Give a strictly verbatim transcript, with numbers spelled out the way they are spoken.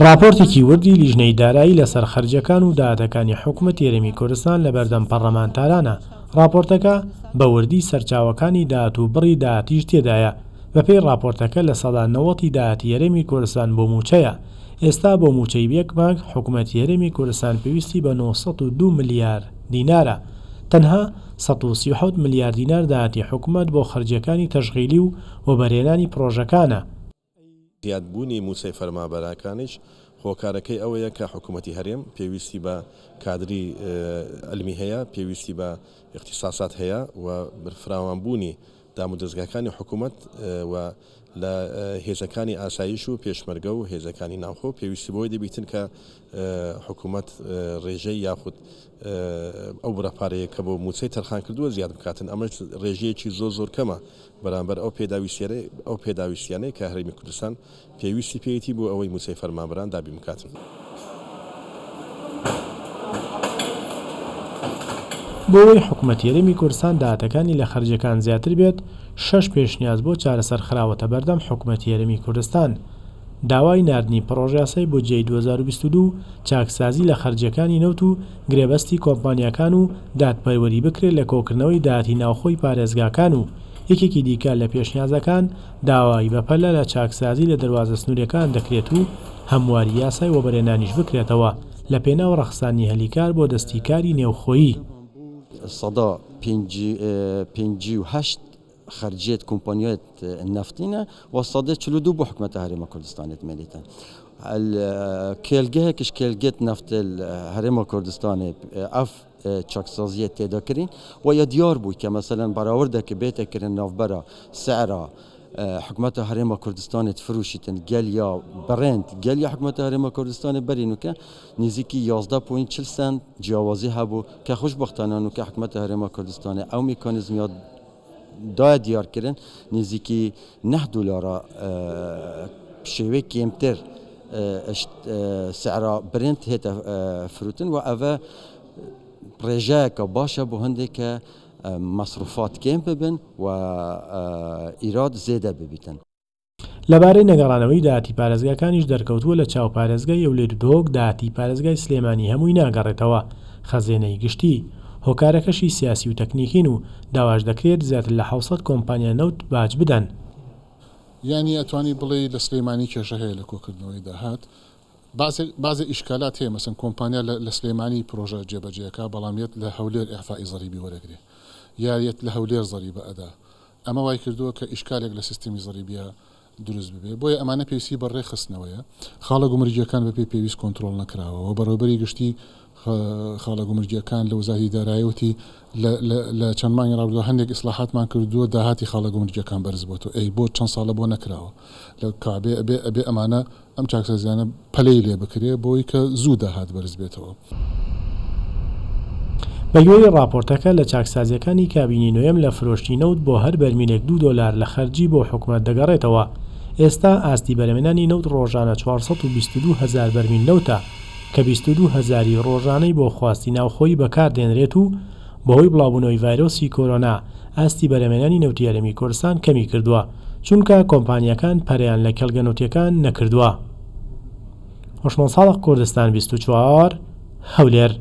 ڕاپۆرتێکی وردی لیژنەی دارایی لەسەر خەرجیەکان و داهاتەکانی حکومەتی هەرێمی کوردستان لەبەردەم پەرلەمانتارانە. ڕاپۆرتەکە بە وردی سەرچاوەکانی داهات و بڕی داهاتیش تێدایە. بەپێی ڕاپۆرتەکە لە سەدا نەوەتی داهاتی هەرێمی کوردستان بۆ مووچەیە. ئێستا بۆ مووچەی یەک مانگ حکومەتی هەرێمی کوردستان پێویستی بە نۆ سەد و دوو ملیار دینارە. تەنها سەد و سی و حەوت ملیار دینار داهاتی حکومەت بۆ خەرجیەکانی تەشغیلی و وەبەرهێنانی پرۆژەکانە. زیادبوونی مووچەی فەرمانبەرەکانیش هۆکارەکەی ئەوەیە کە حکوومەتی هەرێم پێویستی بە کادری علمی هەیە، پێویستی بە اختصاصات هەیە و فراوانبوونی دامودەزگاکانی حکوومەت و لە هێزەکانی ئاسایش و پێشمەرگە و هێزەکانی ناوخۆ پێویستی بۆی دەبیتن کە حکوومەت ڕێژەی یاخود ئەو بڕە پارەیە کە بۆ مووچەی تەرخان کردووە زیاد بکاتن. ئەمەش ڕێژەیەکی زۆر زۆر کەمە بەرامبەر ئەو ئەو پێداویستیانەی کە هەرێمی کوردستان پێویستی پێیەتی بۆ ئەوەی مووچەی فەرمانبەران دابین بکاتن. بۆ ئەوەی حکوومەتی هەرێمی کوردستان داهاتەکانی لە خەرجیەکان زیاتر بێت، شەش پێشنیاز بۆ چارەسەر خراوەتە بەردەم حکوومەتی هەرێمی کوردستان. داوای ناردنی پرۆژەیاسای بودجەی دوو هەزار و بیست و دوو، چاکسازی لە خەرجیەکانی نەوت و گرێبەستی کۆمپانیاکان و دادپەروەری بکرێت لە کۆکردنەوەی داهاتی ناوخۆی پارێزگاکان و یەکێکی دیکە لە پێشنیازەکان داوای بەپەلە لە چاکسازی لە دەروازە سنووریەکان دەکرێت و هەمواری یاسای وەبەرهێنانیش بکرێتەوە لە پێناو ڕەخسانی هەلیکار بۆ دەستی کاری نێوخۆیی. سەدا پێنجی و هەشت خەرجیەت کۆمپانیات نەفتینە و سەدا چل و دوو بۆ حکومەتە هەرێمە کوردستانێت مێنێتن. کێلگەیەکش کێلگەت نەفت هەرێمە کوردستانێ ئەف چاکسازیە تێدا کرین و یا دیار بوو کە مەسەلەن بەراوردەکە بێتەکردن ناوبەرە سعرا حکومەتە هەرێمە کوردستانێت فروشیتن گەل یا بڕێند گەل یا حکومەتە هەرێمە کوردستانێ بەرینوکە نزیکی یازدە پوینت چل سنت جیاوازی هەبوو کە خۆشبەختانە نوکە حکومەتە هەرێمە کوردستانێ ئەو میکانیزمیات دایە دیارکردن نزیکی نه دلارە شێوەی کێمتر سعرا برنت هێتە فروتن و ئەوە ڕێژەیەکە باشە بۆ هەندێک کە مەسروفات کێم ببن و ئیراد زێدە ببیتن. لەبارەی نەگەڕانەوەی داهاتی پارێزگاکانیش دەرکەوتووە لە چاو پارێزگای هەولێر و دهۆک داهاتی پارێزگای سلێمانی هەمووی ناگەڕێتەوە خەزێنەی گشتی. هۆکارەکەشی سیاسی و تەکنیکین و داواش دەکرێت زیاتر لە حەوت سەد کۆمپانیا نەوت باج بدەن. یعنی ئەتوانی بڵێ لە سلێمانی کێشە هەیە لە کۆکردنەوەی داهات. بەعزێ ئیشکالات هەیە، مەسەن کۆمپانیا لە سلێمانی پرۆژە جێبەجێەکە بەڵام یەت لە هەولێر ئیعفائی زەریبی وەرەگرێ یا یەت لە هەولێر زەریبە ئەدا. ئەمە وای کردووە کە ئیشکالێک لە سیستمی زەریبیە دروست ببێ. بۆیە ئەمانە پێویستی بە ڕێکخستنەوەیە. خاڵە گومرگیەکان بەپێی پێویست کۆنترۆڵ نەکراوە و بەڕێوەبەری گشتی خاڵە گومرگیەکان لە وەزارەتی داراییوتی لە چەند مانگی ڕابردووە هەندێک ئیسلاحاتمان کردووە داهاتی خاڵە گومرگیەکان بەرز بۆتەوە. ئەی بۆ چەند ساڵە بۆ نەکراوە لە کابێ ئەبێ ئەبێ ئەمانە ئەم چاکسازیانە پەلەی لێ بکرێ بۆی کە زوو داهات بەرز بێتەوە. بەگوێرەی ڕاپۆرتەکە لە چاکسازیەکانی کابینی نوێم لە فرۆشتی نەوت بۆ هەر بەرمیلێک دوو دۆلار لە خەرجی بۆ حکومەت دەگەڕێتەوە. ئێستا ئاستی بەرهەمهێنانی نەوت ڕۆژانە چوار سەد و بیست و دوو هەزار بەرمیل نەوتە کە بیست و دوو هەزاری ڕۆژانەی بۆ خواستی ناوخۆیی بەکاردێنرێت و بەهۆی بڵاوبوونەوەی ڤایرۆسی کۆرۆنا ئاستی بەرهەمهێنانی نەوتی هەرێمی کوردستان کەمی کردووە، چونکە کۆمپانیاکان پەرەیان لە کێڵگە نەوتیەکان نەکردووە. هۆشمەند ساڵح، کوردستان بیست و چوار، هەولێر.